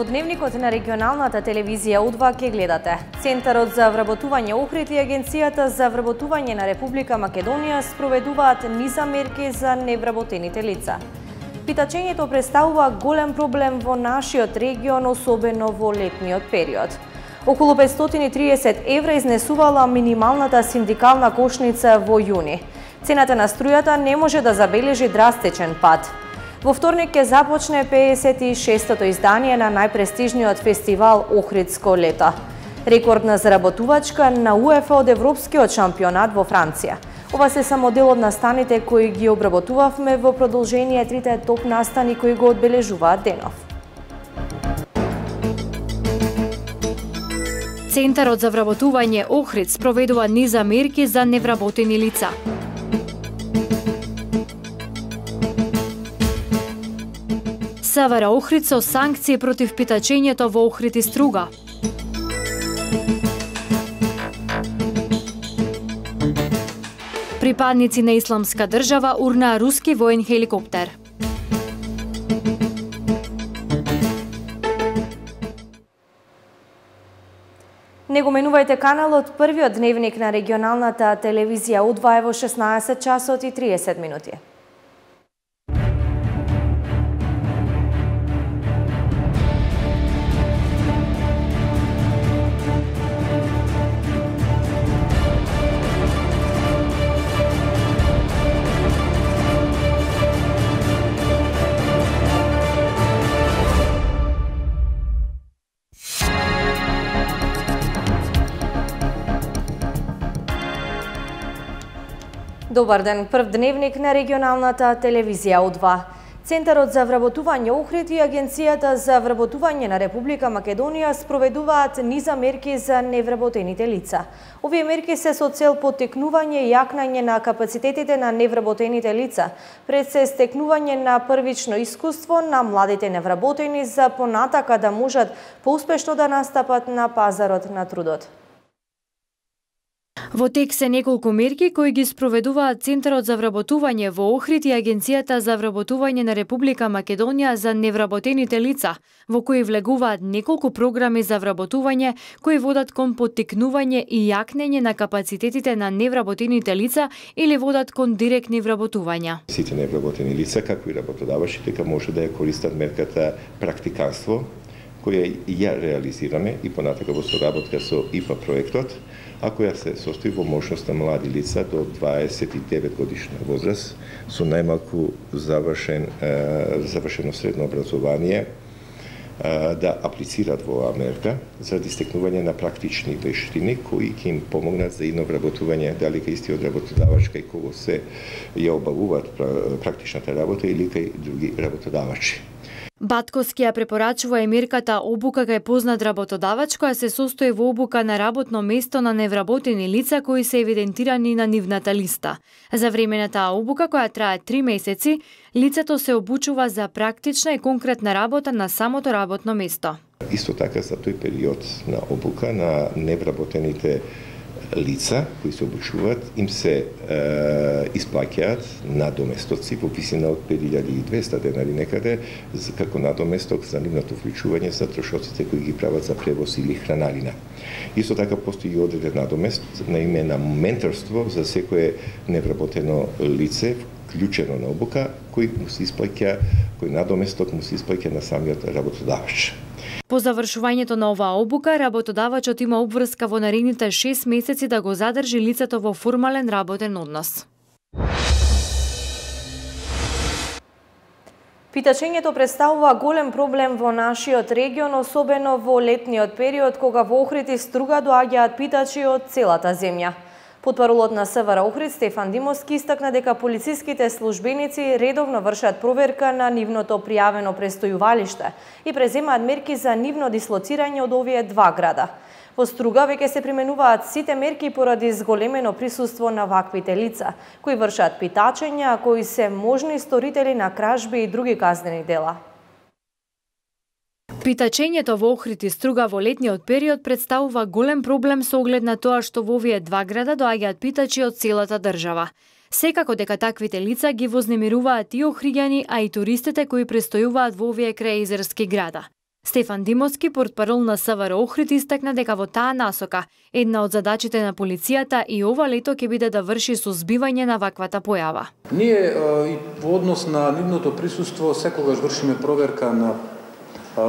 Во дневникот на регионалната телевизија У2 ке гледате. Центарот за вработување Охрид и Агенцијата за вработување на Република Македонија спроведуваат низа мерки за невработените лица. Питачењето представува голем проблем во нашиот регион, особено во летниот период. Околу 530 евра изнесувала минималната синдикална кошница во јуни. Цената на струјата не може да забележи драстичен пад. Во вторник ќе започне 56-тото издание на најпрестижниот фестивал Охридско лето. Рекордна заработувачка на УЕФА од Европскиот шампионат во Франција. Ова се само дел од настаните кои ги обработувавме во продолжение трите топ настани кои го одбележуваат денов. Центарот за вработување Охрид спроведува низа мерки за невработени лица. СВР Охрид со санкции против питачењето во Охрид и Струга. Припадници на Исламска држава урнаа руски воен хеликоптер. Не го менувајте каналот, првиот дневник на регионалната телевизија У2 во 16 часот и 30 минути. Добар ден, прв дневник на регионалната телевизија У2. Центарот за вработување Охрид и Агенцијата за вработување на Република Македонија спроведуваат низа мерки за невработените лица. Овие мерки се со цел поттикнување и јакнање на капацитетите на невработените лица, пред се стекнување на првично искуство на младите невработени за понатака да можат поуспешно да настапат на пазарот на трудот. Во тек се неколку мерки кои ги спроведуваат Центарот за вработување во Охрид и Агенцијата за вработување на Република Македонија за невработените лица, во кои влегуваат неколку програми за вработување кои водат кон поттикнување и јакнење на капацитетите на невработените лица или водат кон директни вработувања. Сите невработени лица, како и работодавачите, дека може да ја користат мерката практиканство, која ја реализираме и понатака во соработка со ИПА проектот, а која се состои во можност на млади лица до 29 годишна возраст со најмалку завршено средно образование да аплицираат во оваа мерка заради стекнување на практични вештини кои ќе им помогнат за едно вработување, дали кај истиот работодавач кај кого се ја обавуваат практичната работа или кај други работодавачи. Батковски ја препорачува и мерката обука кај познат работодавач која се состои во обука на работно место на невработени лица кои се евидентирани на нивната листа. За време на таа обука, која трае 3 месеци, лицето се обучува за практична и конкретна работа на самото работно место. Исто така за тој период на обука на невработените лица кои се обучуваат, им се исплаќаат надоместоци во висина од 5200 денари некаде како надоместок за нивното вклучување за трошоците кои ги прават за превоз или хранарина. Исто така постои одреден надомест на име на менторство за секое невработено лице вклучено на обука, кој му се исплаќа, кој надоместок му се исплаќа на самиот работодавач. По завршувањето на оваа обука, работодавачот има обврска во наредните 6 месеци да го задржи лицето во формален работен однос. Питачењето представува голем проблем во нашиот регион, особено во летниот период, кога во Охрид и Струга доаѓаат питачи од целата земја. Потпаролот на СВР Охрид Стефан Димовски истакна дека полициските службеници редовно вршат проверка на нивното пријавено престојувалиште и преземаат мерки за нивно дислоцирање од овие два града. Во Струга веќе се применуваат сите мерки поради зголемено присуство на ваквите лица, кои вршат питачења, а кои се можни сторители на кражби и други казнени дела. Питачењето во Охрид и Струга во летниот период представува голем проблем со оглед на тоа што во овие два града доаѓаат питачи од целата држава. Секако дека таквите лица ги вознемируваат и охриѓани, а и туристите кои престојуваат во овие крајезерски града. Стефан Димовски, портпарол на СВР Охрид, истакна дека во таа насока една од задачите на полицијата и ова лето ќе биде да врши сузбивање на ваквата појава. Ние и во однос на нивното присуство секогаш вршиме проверка на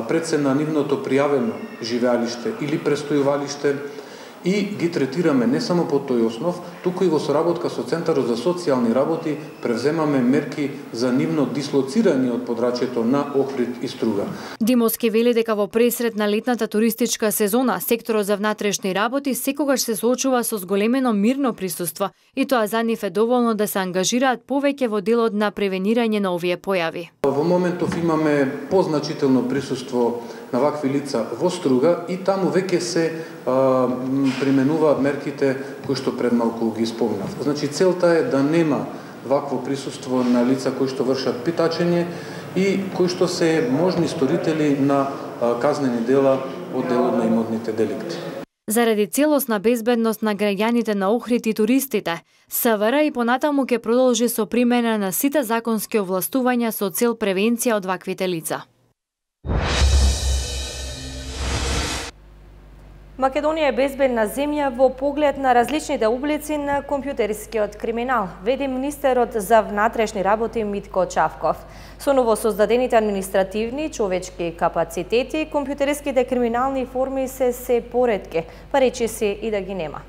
пред се на нивното пријавено живеалиште или престојувалиште и ги третираме не само по тој основ, туку и во соработка со Центарот за социјални работи превземаме мерки за нивно дислоцирање од подрачјето на Охрид и Струга. Димовски вели дека во пресред на летната туристичка сезона секторот за внатрешни работи секогаш се соочува со зголемено мирно присуство и тоа за нив е доволно да се ангажираат повеќе во делот на превенирање на овие појави. Во моментов имаме позначително присуство на вакви лица во Струга и таму веќе се применуваат мерките кои што пред малку ги спомнав. Значи целта е да нема вакво присуство на лица кои што вршат питачење и кои што се можни сторители на казнени дела од делот на имотните деликти. Заради целосна безбедност на граѓаните на Охрид и туристите, СВР и понатаму ќе продолжи со примена на сите законски овластувања со цел превенција од ваквите лица. Македонија е безбедна земја во поглед на различните облици на компјутерскиот криминал, веди министерот за внатрешни работи Митко Чавков. Со новосоздадените административни и човечки капацитети, компјутерските криминални форми се поретки, па речи се и да ги нема.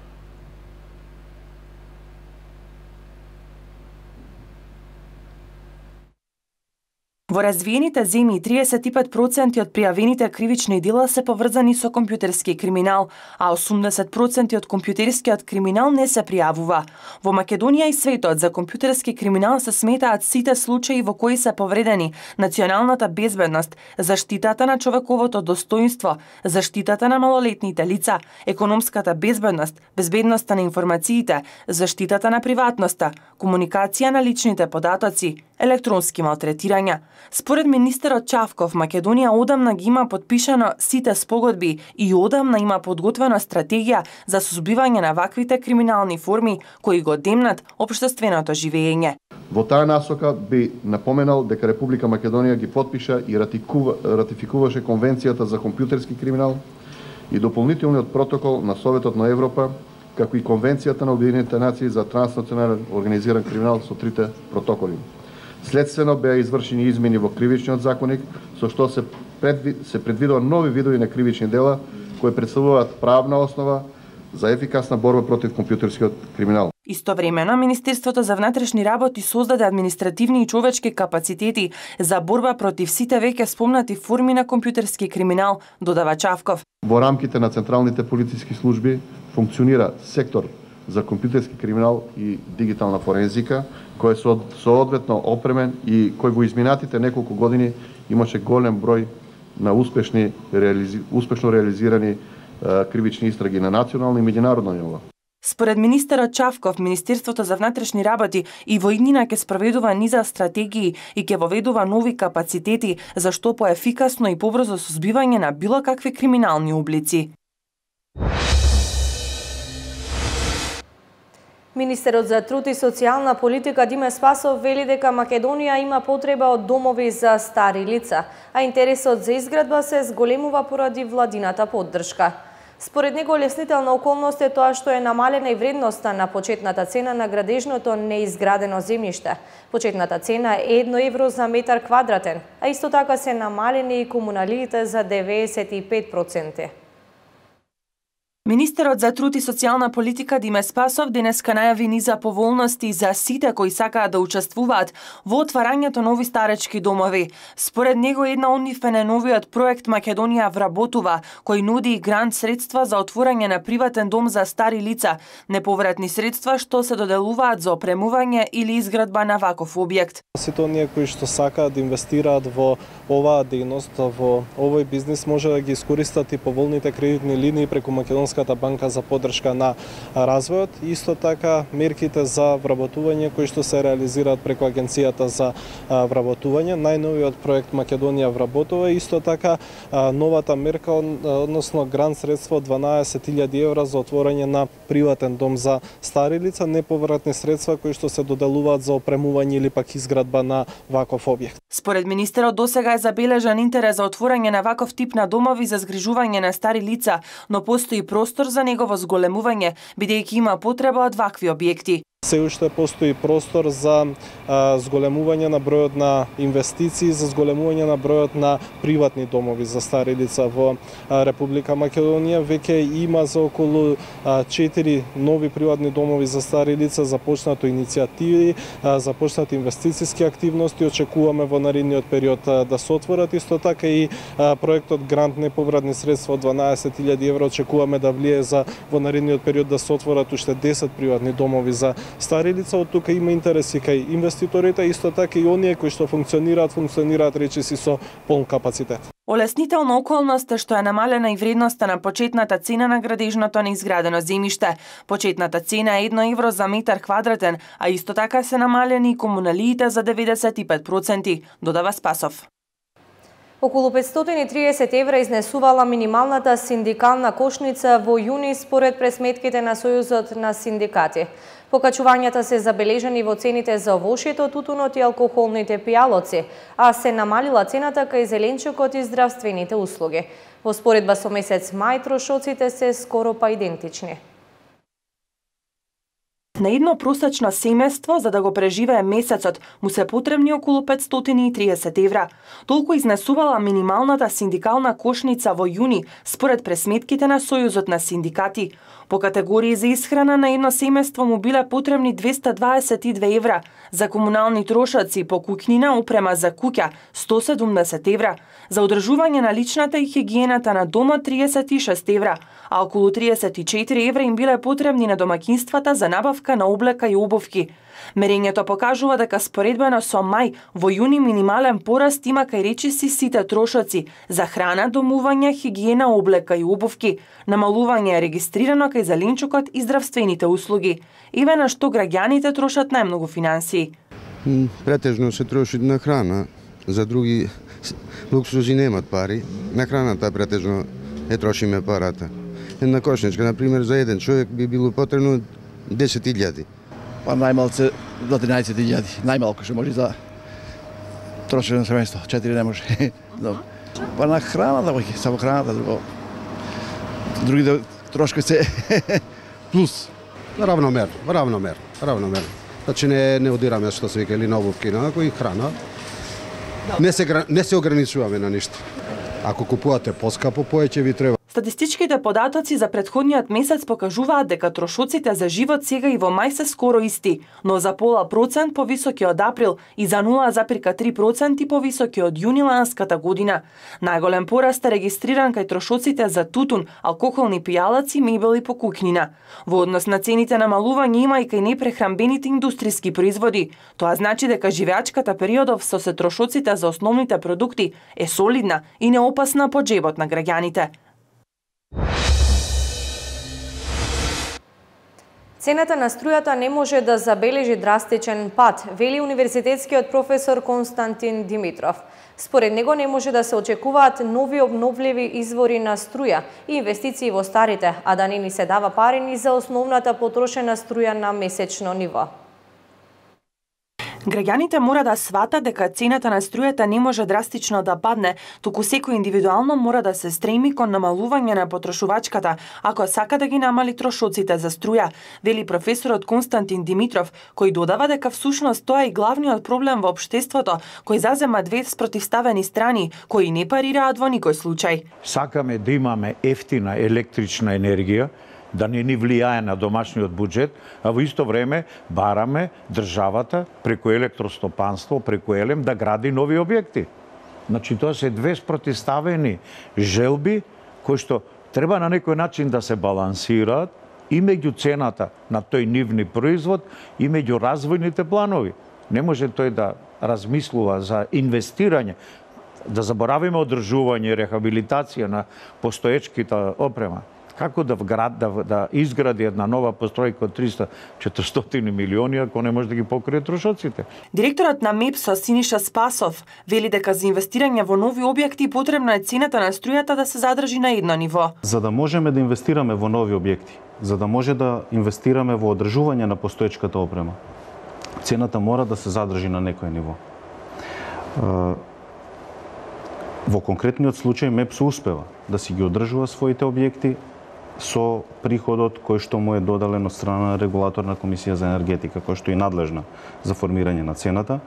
Во развиените земји 35% од пријавените кривични дела се поврзани со компјутерски криминал, а 80% од компјутерскиот криминал не се пријавува. Во Македонија и светот за компјутерски криминал се сметаат сите случаи во кои се повредени националната безбедност, заштитата на човековото достоинство, заштитата на малолетните лица, економската безбедност, безбедноста на информациите, заштитата на приватноста, комуникација на личните податоци, електронски малтретирања. Според министерот Чавков, Македонија одамна ги има подпишано сите спогодби и одамна има подготвена стратегија за сузбивање на ваквите криминални форми кои го демнат општественото живење. Во таа насока би напоменал дека Република Македонија ги подпиша и ратификуваше Конвенцијата за компјутерски криминал и дополнителниот протокол на Советот на Европа, како и Конвенцијата на Обединетите нации за транснационален организиран криминал со трите протоколи. Следствено беа извршени измени во кривичниот законник, со што се предвидува нови видови на кривични дела кои претставуваат правна основа за ефикасна борба против компјутерскиот криминал. Истовремено, Министерството за внатрешни работи создаде административни и човечки капацитети за борба против сите веќе спомнати форми на компјутерски криминал, додава Чавков. Во рамките на централните полициски служби функционира сектор за компјутерски криминал и дигитална форензика, кој е соодветно опремен и кој во изминатите неколку години имаше голем број на успешно реализирани кривични истраги на национално и меѓународно ниво. Според министерот Чавков, Министерството за внатрешни работи и во иднина ќе спроведува низа стратегии и ќе воведува нови капацитети за што поефикасно и побрзо сузбивање на било какви криминални облици. Министерот за труд и социјална политика Диме Спасов вели дека Македонија има потреба од домови за стари лица, а интересот за изградба се зголемува поради владината поддршка. Според него леснителна околност е тоа што е намалена и вредноста на почетната цена на градежното неизградено земјиште. Почетната цена е 1 евро за метар квадратен, а исто така се намалени и комуналиите за 95%. Министерот за труд и социјална политика Диме Спасов денеска најави низа поволности за сите кои сакаат да учествуваат во отварањето нови старечки домови. Според него една од нив е најновиот проект Македонија вработува, кој нуди грант средства за отворање на приватен дом за стари лица, неповратни средства што се доделуваат за опремување или изградба на ваков објект. Сите оние кои што сакаат да инвестираат во оваа дејност, во овој бизнис, може да ги искористат и поволните кредитни линии преку Македонска Европската банка за поддршка на развојот, исто така мерките за вработување кои што се реализираат преку Агенцијата за вработување, најновиот проект Македонија вработува, исто така новата мерка, односно грант средство од 12.000 евра за отворање на приватен дом за стари лица, неповратни средства кои што се доделуваат за опремување или пак изградба на ваков објект. Според министерот досега е забележан интерес за отворање на ваков тип на домови за згрижување на стари лица, но постои простор за негово зголемување, бидејќи има потреба од вакви објекти. Се уште постои простор за зголемување на бројот на инвестиции, за зголемување на бројот на приватни домови за стари лица во Република Македонија. Веќе има за околу 4 нови приватни домови за стари лица, започнато иницијативи, започнати инвестициски активности, очекуваме во наредниот период да се отворат. Исто така и проектот грант неповратни средства од 12.000 евра очекуваме да влие за во наредниот период да се отворат уште 10 приватни домови за стари лица. Од тука има интереси кај инвеститорите, исто така и оние кои што функционираат речиси со полн капацитет. Олеснителна околност е што е намалена и вредноста на почетната цена на градежното неизградено земјиште. Почетната цена е 1 евро за метар квадратен, а исто така се намалени и комуналиите за 95%, додава Спасов. Околу 530 евра изнесувала минималната синдикална кошница во јуни според пресметките на Сојузот на синдикати. Покачувањата се забележани во цените за овошјето, тутунот и алкохолните пијалоци, а се намалила цената кај зеленчукот и здравствените услуги. Во споредба со месец мај трошоците се скоро па идентични. На едно просечно семејство, за да го преживее месецот, му се потребни околу 530 евра. Толку изнесувала минималната синдикална кошница во јуни, според пресметките на Сојузот на синдикати. По категории за исхрана на едно семејство му биле потребни 222 евра, за комунални трошоци по куќнина, опрема за куќа 170 евра, за одржување на личната и хигиената на домот 36 евра, а околу 34 евра им биле потребни на домаќинствата за набавка на облека и обувки. Мерењето покажува дека споредбено со мај, во јуни минимален пораст има кај речиси сите трошоци за храна, домување, хигиена, облека и обувки. Намалување е регистрирано кај зеленчукот и здравствените услуги. Еве на што граѓаните трошат најмногу финансии. Претежно се троши на храна, за други луксузи немат пари. На храната претежно трошиме парата. Една кошничка, например, за еден човек би било потребно 10.000. Па најмалце до 13.000, најмалку што може за трошење на семејство, 4 не може. Па на храната, само храната, другите трошки се плюс. Равномерно. Значи не одираме што се вика или на обувки, на кои храна. Не се ограничуваме на ништо. Ако купувате поскапо, поеќе ви треба. Статистичките податоци за претходниот месец покажуваат дека трошоците за живот сега и во мај се скоро исти, но за пола процент повисоки од април и за 0,3% повисоки од јуни ланската година. Најголем пораст е регистриран кај трошоците за тутун, алкохолни пијалаци, мебели по куќнина. Во однос на цените намалување има и кај непрехранбените индустријски производи. Тоа значи дека живеачката периодов со се трошоците за основните продукти е солидна и неопасна по џебот на граѓаните. Цената на струјата не може да забележи драстичен пат, вели универзитетскиот професор Константин Димитров. Според него не може да се очекуваат нови обновливи извори на струја и инвестиции во старите, а да не ни се дава пари ни за основната потрошена струја на месечно ниво. Граѓаните мора да сватат дека цената на струјата не може драстично да падне, туку секој индивидуално мора да се стреми кон намалување на потрошувачката, ако сака да ги намали трошоците за струја, вели професорот Константин Димитров, кој додава дека всушност тоа е главниот проблем во општеството, кој зазема две спротивставени страни, кои не парираат во никој случај. Сакаме да имаме ефтина електрична енергија, да не ни влијае на домашниот буџет, а во исто време бараме државата преку електростопанство, преку ЕЛЕМ да гради нови објекти. Значи тоа се две спротивставени желби кои што треба на некој начин да се балансираат и меѓу цената на тој нивни производ и меѓу развојните планови. Не може тој да размислува за инвестирање, да заборавиме одржување и рехабилитација на постоечките опрема. Како да изгради една нова постројка од 300-400 милиони ако не може да ги покрие трошоците? Директорот на МЕПСО Синиша Спасов вели дека за инвестирање во нови објекти потребна е цената на струјата да се задржи на едно ниво. За да можеме да инвестираме во нови објекти, за да може да инвестираме во одржување на постоечката опрема, цената мора да се задржи на некој ниво. Во конкретниот случај МЕПСО успева да си ги одржува своите објекти со приходот кој што му е додален од страна на регулаторна комисија за енергетика, кој што е надлежна за формирање на цената,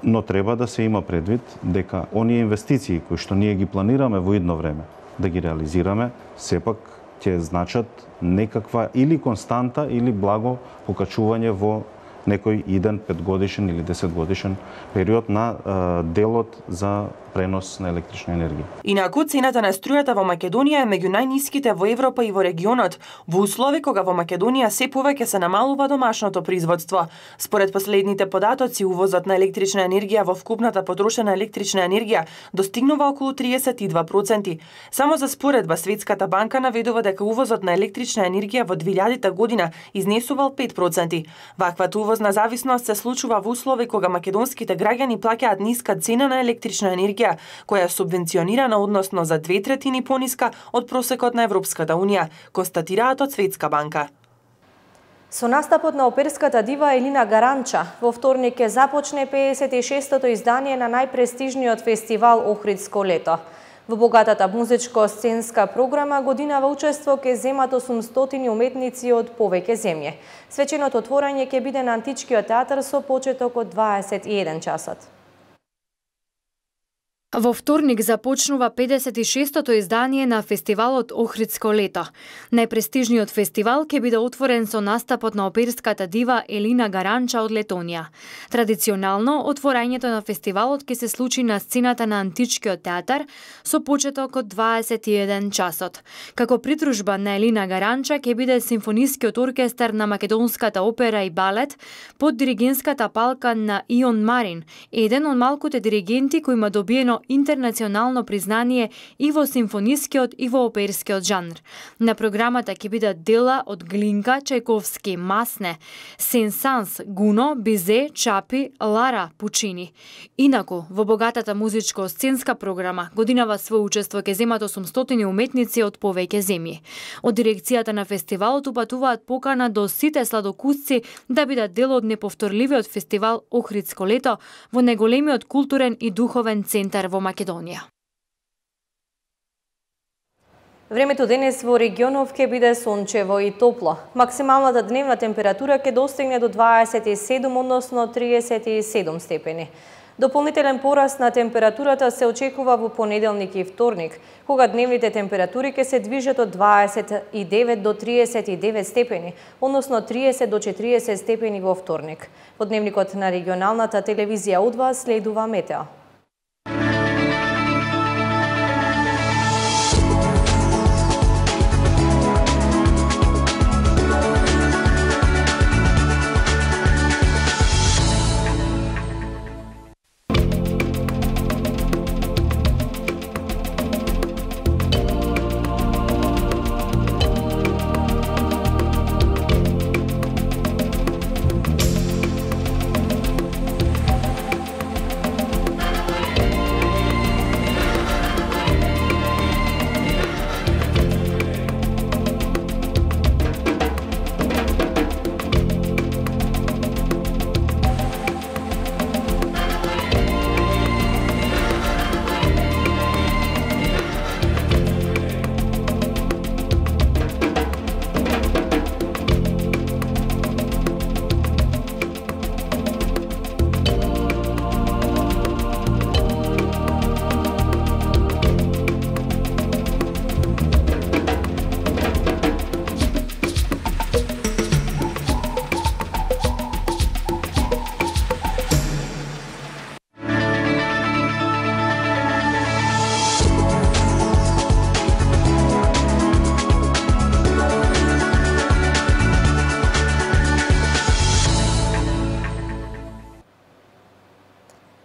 но треба да се има предвид дека оние инвестиции кои што ние ги планираме во идно време да ги реализираме, сепак ќе значат некаква или константа или благо покачување во некој иден 5-годишен или 10-годишен период на делот за пренос на електрична енергија. Инаку, цената на струјата во Македонија е меѓу најниските во Европа и во регионот, во услови кога во Македонија се повеќе се намалува домашното производство. Според последните податоци, увозот на електрична енергија во вкупната потрошена електрична енергија достигнува околу 32%. Само за споредба, Светската банка наведува дека увозот на електрична енергија во 2000 година изнесувал 5%. Ваквата увозна зависност се случува во услови кога македонските граѓани плаќаат ниска цена на електрична енергија, која е субвенционирана односно за 2/3 пониска од просекот на Европската Унија, констатираат од Светска банка. Со настапот на оперската дива Елина Гаранча, во вторник ќе започне 56-тото издание на најпрестижниот фестивал Охридско лето. Во богатата музичко-сценска програма годинава учество ќе земат 800 уметници од повеќе земји. Свеченото отворање ќе биде на Античкиот театар со почеток од 21 часот. Во вторник започнува 56-тото издание на фестивалот Охридско лето. Најпрестижниот фестивал ќе биде отворен со настапот на оперската дива Елина Гаранча од Летонија. Традиционално, отворањето на фестивалот ќе се случи на сцената на Античкиот театар со почеток од 21 часот. Како придружба на Елина Гаранча ќе биде симфонискиот оркестар на Македонската опера и балет под диригентската палка на Ион Марин, еден од малкуте диригенти кој има добиено интернационално признание и во симфонискиот и во оперскиот жанр. На програмата ќе бидат дела од Глинка, Чајковски, Масне, Сен-Санс, Гуно, Бизе, Чапи, Лара, Пучини. Инаку, во богатата музичко-сценска програма годинава свој учество ќе земат 800 уметници од повеќе земји. Од дирекцијата на фестивалот упатуваат покана до сите сладокусци да бидат дел од неповторливиот фестивал Охридско лето во најголемиот културен и духовен центар во Македонија. Времето денес во регионов ќе биде сончево и топло. Максималната дневна температура ќе достигне до 27, односно 37 степени. Дополнителен пораст на температурата се очекува во понеделник и вторник, кога дневните температури ќе се движат од 29 до 39 степени, односно 30 до 40 степени во вторник. Во дневникот на регионалната телевизија У2 следува метео.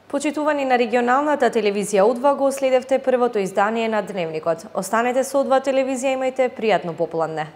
Почитувани на регионалната телевизија О2 го следевте првото издание на Дневникот. Останете со О2 телевизија, имајте пријатно попладне.